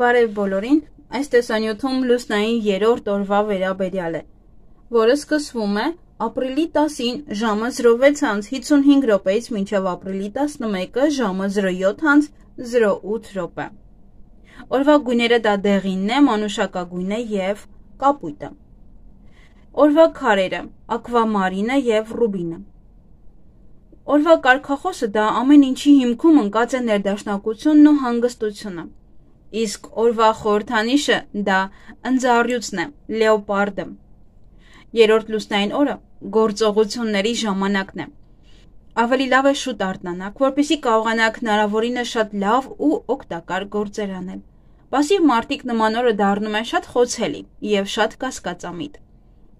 Բարև բոլորին, այս տեսանյութում լուսնային երրորդ օրվա վերաբերյալ է, որը սկսվում է ապրիլի 10-ին ժամը 06:55 րոպեից մինչև ապրիլի 11-ը ժամը 07:08 րոպե։ Օրվա գույները դա դեղինն է, մանուշակագույնը և կապույտը։ Օրվա քարերը՝ ակվամարինը և ռուբինը։ Օրվա կարգախոսը դա ամեն ինչի հիմքում ընկած է ներդաշնակությունն ու հանգստությունը։ Իսկ օրվա խորհրդանիշը դա ընձառյուծն է, լեոպարդը։ Երրորդ լուսնային օրը գործողությունների ժամանակն է։ Ավելի լավ է շուտ արթնանաք, որպեսզի կարողանաք հնարավորինս շատ լավ ու օգտակար գործեր անել։ Պասիվ մարդիկ նման օրը դառնում են շատ խոցելի և շատ կասկածամիտ։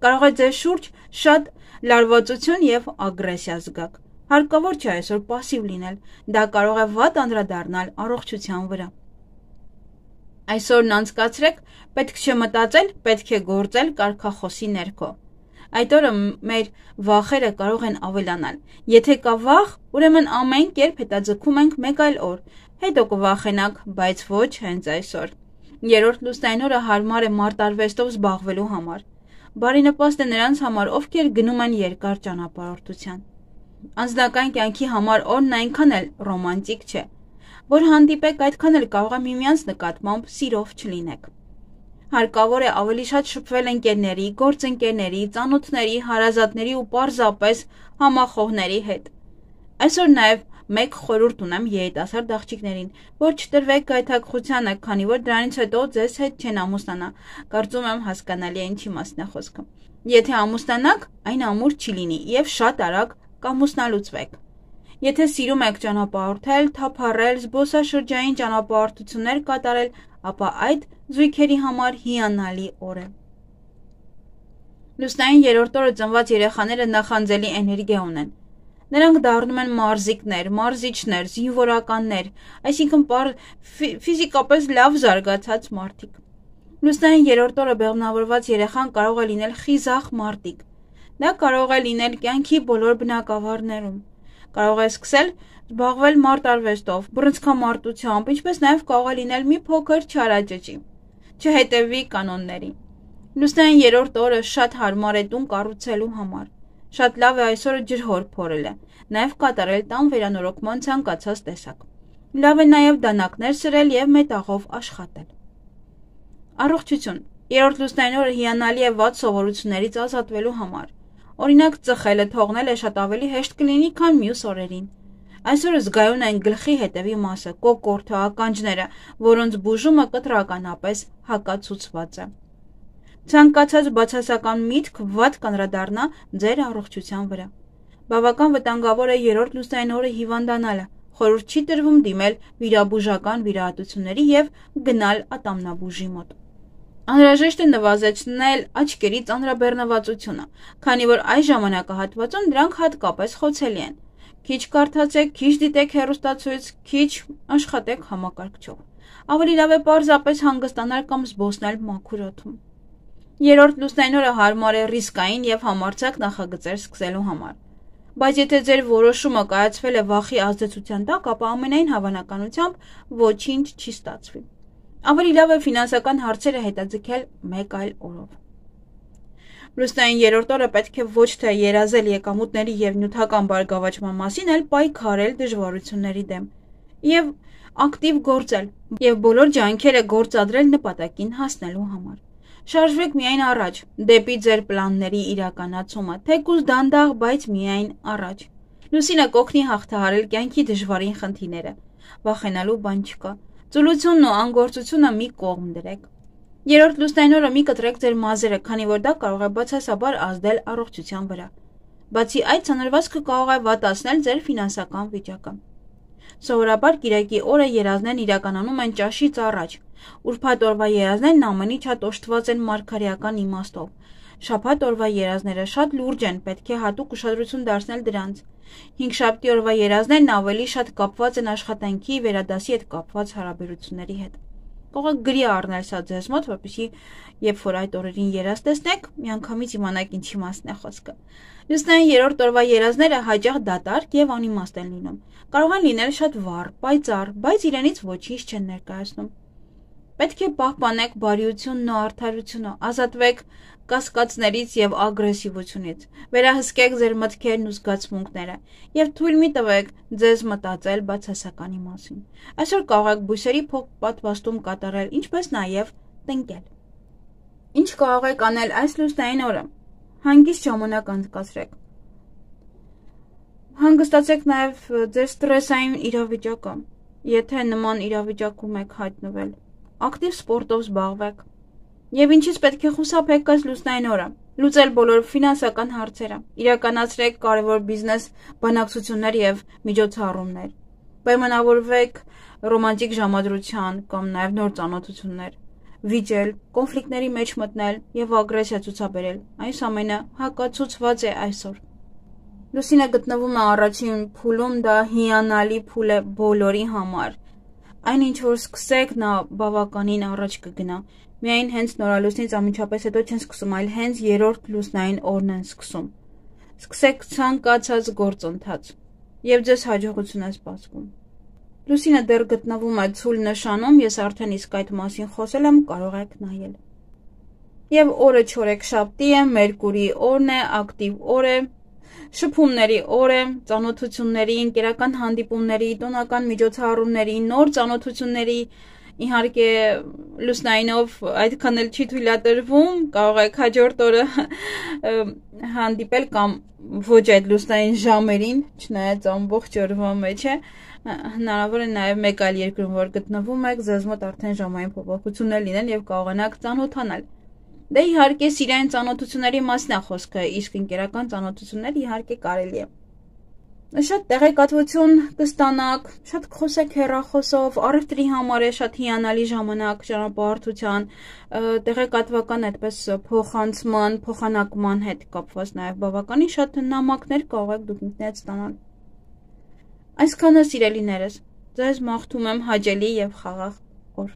Կարող է ձեր շուրջ շատ լարվածություն և ագրեսիա զգաք։ Հարկավոր չէ այսօր պասիվ լինել, դա կարող է վատ անդրադառնալ առողջության վրա։ Այսօրն անցկացրեք, պետք չէ մտածել, պետք է գործել կարգախոսի ներքո։ Այդ օրը մեր վախերը կարող են ավելանալ։ Եթե կա վախ, ուրեմն ամեն կերպ հետաձգում ենք մեկ այլ օր, հետո կվախենաք, բայց ոչ հենց այսօր։ Երրորդ լուսնային օրը հարմար է մարտարվեստով զբաղվելու համար։ Բարենպաստ է նրանց համար, ովքեր գնում են երկար ճանապարհորդության։ Անձնական կյանքի համար օրն այնքան էլ ռոմանտիկ չէ, որ հանդիպեք, այդքան էլ կարող է միմյանց նկատմամբ սիրով չլինեք։ Հարկավոր է ավելի շատ շփվել ընկերների, գործընկերների, ծանոթների, հարազատների ու պարզապես համախոհների հետ։ Այսօր նաև մեկ խորհուրդ ունեմ երիտասարդ աղջիկներին, որ չտրվեք գայթակղությանը, քանի որ դրանից հետո ձեզ հետ չեն ամուսնանա։ Կարծում եմ հասկանալի է ինչի մասն է խոսքը։ Եթե ամուսնանաք, այն ամուր չի լինի և շատ արագ կամուսնալուծվեք։ Եթե սիրում եք ճանապարհորդել, թափառել, զբոսաշրջային ճանապարհորդություններ կատարել, ապա այդ զույգերի համար հիանալի օր է։ Լուսնային երրորդ օրը ծնված երեխաները նախանձելի էներգիա ունեն։ Նրանք դառնում են մարզիկներ, մարզիչներ, զինվորականներ, այսինքն ֆիզիկապես լավ զարգացած մարդիկ։ Լուսնային երրորդ օրը բեղմնավորված երեխան կարող է լինել խիզախ մարտիկ։ Դա կարող է լինել կյանքի բոլոր բնակավարներում։ Կարող է սկսել զբաղվել մարտարվեստով, բռնցքամարտությամբ, ինչպես նաև կարող է լինել մի փոքր չարաճճի։ Չհետևի կանոններին։ Լուսնային երրորդ օրը շատ հարմար է տուն կառուցելու համար։ Շատ լավ է այսօրը ջրհոր փորելը, նաև կատարել տան վերանորոգման ցանկացած տեսակ։ Լավ է նաև դանակներ սրել և մետաղով աշխատել։ Առողջություն։ Երրորդ լուսնային օրը հիանալի է վատ սովորություններից ազատվելու համար։ Օրինակ, ծխելը թողնելը շատ ավելի հեշտ կլինի, քան մյուս օրերին։ Այսօրը զգայուն են գլխի հետևի մասը, կոկորդը, ականջները, որոնց բուժումը կտրականապես հակացուցված է։ Ցանկացած բացասական միտք վատ կանդրադառնա ձեր առողջության վրա։ Բավական վտանգավոր է երրորդ լուսնային օրը հիվանդանալը։ Խորհուրդ չի տրվում դիմել վիրաբուժական վիրահատությունների և գնալ ատամնաբուժի մոտ։ Անհրաժեշտ է նվազեցնել աչքերի ծանրաբեռնվածությունը, քանի որ այս ժամանակահատվածում դրանք հատկապես խոցելի են։ Քիչ կարդացեք, քիչ դիտեք հեռուստացույց, քիչ աշխատեք համակարգչով։ Ավելի լավ է պարզապես հանգստանալ կամ զբոսնել մաքուր օդում։ Երրորդ լուսնային օրը հարմար է ռիսկային և համարձակ նախագծեր սկսելու համար։ Բայց եթե ձեր որոշումը կայացվել է վախի ազդեցության տակ, ապա ամենայն հավանականությամբ ոչինչ չի ստացվի։ Ավելի լավ է ֆինանսական հարցերը հետաձգել մեկ այլ օրով։ Լուսնային երրորդ օրը պետք է ոչ թե երազել եկամուտների և նյութական բարգավաճման մասին, այլ պայքարել դժվարությունների դեմ և ակտիվ գործել և բոլոր ջանքերը գործադրել նպատակին հասնելու համար։ Շարժվեք միայն առաջ, դեպի ձեր պլանների իրականացումը, թեկուզ դանդաղ, բայց միայն առաջ։ Լուսինը կօգնի հաղթահարել կյանքի դժվարին խնդիրները։ Վախենալու բան չկա։ Ծուլությունն ու անգործությունը մի կողմ դրեք։ Երրորդ լուսնային օրը մի կտրեք ձեր մազերը, քանի որ դա կարող է բացասաբար ազդել առողջության վրա։ Բացի այդ, ցանրվածքը կարող է վատացնել ձեր ֆինանսական վիճակը։ Սովորաբար կիրակի օրը երազներն իրականանում են ճաշից առաջ։ Ուրբաթ օրվա երազներն ամենից շատ օժտված են մարգարեական իմաստով։ Շաբաթ օրվա երազները շատ լուրջ են, պետք է հատուկ ուշադրություն դարձնել դրանց։ Հինգշաբթի օրվա երազներն ավելի շատ կապված են աշխատանքի, վերադասի հետ կապված հարաբերությունների հետ։ Կարող եք գրի առնել սա ձեզ մոտ, որպեսզի երբ որ այդ օրերին երազ տեսնեք, միանգամից իմանաք ինչի մասն է խոսքը։ Լուսնային երրորդ օրվա երազները հաճախ դատարկ և անիմաստ են լինում։ Կարող են լինել շատ վառ, պայծառ, բայց իրենից ոչինչ չեն ներկայացնում։ Պետք է պահպանեք բարիությունն ու արդարությունը, ազատվեք կասկածներից եւ ագրեսիվությունից, վերահսկեք ձեր մտքերն ու զգացմունքները եւ թույլ մի տվեք ձեզ մտածել բացասականի մասին։ Այսօր կարող եք բույսերի պատվաստում կատարել, ինչպես նաեւ տնկել։ Ինչ կարող եք անել այս լուսնային օրը։ Հանգիստ ժամանակ անցկացրեք։ Հանգստացեք նաեւ ձեր ստրեսային իրավիճակը, եթե նման իրավիճակում եք հայտնվել։ Ակտիվ սպորտով զբաղվեք։ Եվ ինչից պետք է խուսափեք այս լուսնային օրը։ Լուծել բոլոր ֆինանսական հարցերը, իրականացրեք կարևոր բիզնես բանակցություններ եւ միջոցառումներ։ Պայմանավորվեք ռոմանտիկ ժամադրության կամ նաեւ նոր ծանոթություններ։ Վիճել, կոնֆլիկտների մեջ մտնել եւ ագրեսիա ցուցաբերել։ Այս ամենը հակացուցված է այսօր։ Լուսինը գտնվում է առաջին փուլում, դա հիանալի փուլ է բոլորի համար։ Այն ինչ որ սկսեք, նա բավականին առաջ կգնա։ Միայն հենց նորալուսնից անմիջապես հետո չեն սկսում, այլ հենց երրորդ լուսնային օրն են սկսում։ Սկսեք ցանկացած գործընթաց եւ ձեզ հաջողություն է սպասվում։ Լուսինը դեռ գտնվում է ցուլ նշանում, ես արդեն իսկ այդ մասին խոսել եմ, կարող եք նայել։ Եվ օրը չորեքշաբթի է, Մերկուրի օրն է, ակտիվ օր է, շփումների օր է, ծանոթությունների, ընկերական հանդիպումների, տոնական միջոցառումների, նոր ծանոթությունների, իհարկե լուսնայինով այդքան էլ չի թույլատրվում, կարող եք հաջորդ օրը հանդիպել կամ ոչ այդ լուսնային ժամերին, չնայած ամբողջ օրվա մեջ է, հնարավոր է նաև մեկ այլ երկրում, որ գտնվում եք, ձեզ մոտ արդեն ժամային փոփոխություններ լինեն եւ կարողանաք ծանոթանալ։ Դե իհարկե սիրային ծանոթությունների մասն է խոսքը, իսկ ընկերական ծանոթություններ իհարկե կարելի է։ Շատ տեղեկատվություն կստանաք, շատ կխոսեք հեռախոսով, առևտրի համար է շատ հիանալի ժամանակ ճանապարհորդության, տեղեկատվական այդպես փոխանցման, փոխանակման հետ կապված նաև բավականին շատ նամակներ կարող եք դուք ինքներդ ստանալ։ Այսքանը սիրելիներս, ձեզ մաղթում եմ հաճելի եւ խաղաղ օր։